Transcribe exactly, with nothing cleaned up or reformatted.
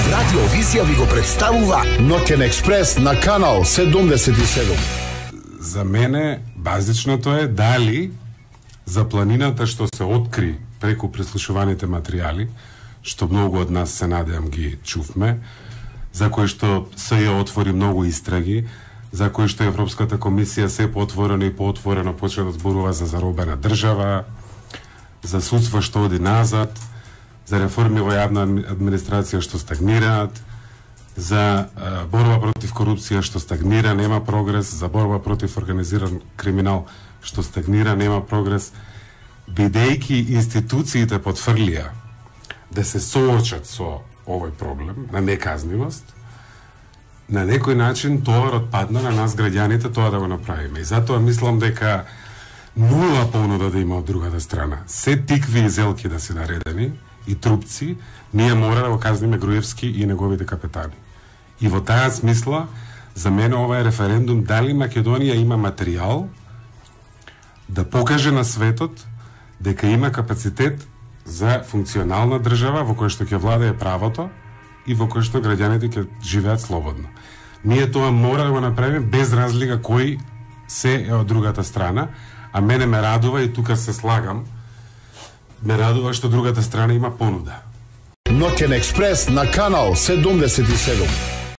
Радио Визија ви го представува Ноќен експрес на канал седумдесет и седум. За мене базичното е дали за планината што се откри преку прислушуваните материјали, што многу од нас се надевам ги чувме, за кои што СЈ отвори многу истраги, за кои што Европската комисија се поотворено и поотворено почна да зборува за заробена држава, за судство што оди назад, за реформи во јавна администрација што стагнираат, за а, борба против корупција што стагнира, нема прогрес, за борба против организиран криминал што стагнира, нема прогрес, бидејќи институциите потврлија да се соочат со овој проблем на неказнивост, на некој начин товарот падна на нас граѓаните тоа да го направиме. И затоа мислам дека нула понуда да има од другата страна. Се тикви и зелки да се наредени и трупци, ние мора да го казниме Груевски и неговите капетани. И во таа смисла, за мене ова е референдум дали Македонија има материјал да покаже на светот дека има капацитет за функционална држава во која што ќе владее правото и во која што граѓаните ќе живеат слободно. Ние тоа мора да го направиме без разлика кој се е од другата страна, а мене ме радува и тука се слагам, ме радува што другата страна има понуда. Ноќен експрес на канал седумдесет и седум.